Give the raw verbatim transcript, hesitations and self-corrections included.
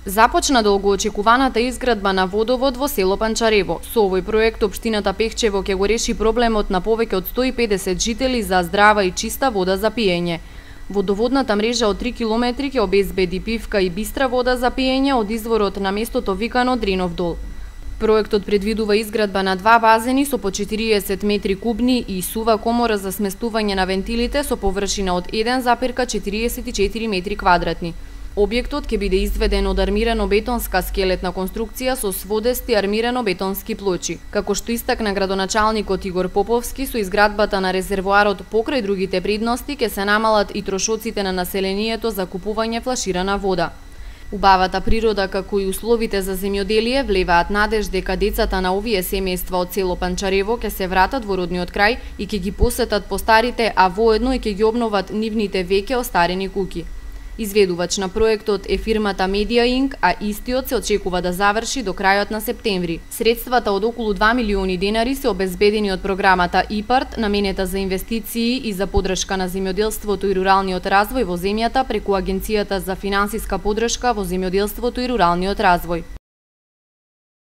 Започна долгоочекуваната изградба на водовод во село Панчарево. Со овој проект општината Пехчево ќе го реши проблемот на повеќе од сто и педесет жители за здрава и чиста вода за пиење. Водоводната мрежа од три километри ќе обезбеди питка и бистра вода за пиење од изворот на местото викано Дринов дол. Проектот предвидува изградба на два базени со по четириесет метри кубни и сува комора за сместување на вентилите со површина од еден запирка четириесет и четири метри квадратни. Објектот ќе биде изведен од армирано-бетонска скелетна конструкција со сводести армирано-бетонски плочи. Како што истакна градоначалникот Игор Поповски, со изградбата на резервоарот покрај другите предности ќе се намалат и трошоците на населението за купување флаширана вода. Убавата природа како и условите за земјоделие влеваат надеж дека децата на овие семејства од село Панчарево ќе се вратат во родниот крај и ќе ги посетат постарите, а воедно и ќе ги обноват нивните веќе остарени куќи. Изведувач на проектот е фирмата Медија Инк, а истиот се очекува да заврши до крајот на септември. Средствата од околу два милиони денари се обезбедени од програмата ИПАРТ, наменета за инвестиции и за поддршка на земјоделството и руралниот развој во земјата преку Агенцијата за финансиска поддршка во земјоделството и руралниот развој.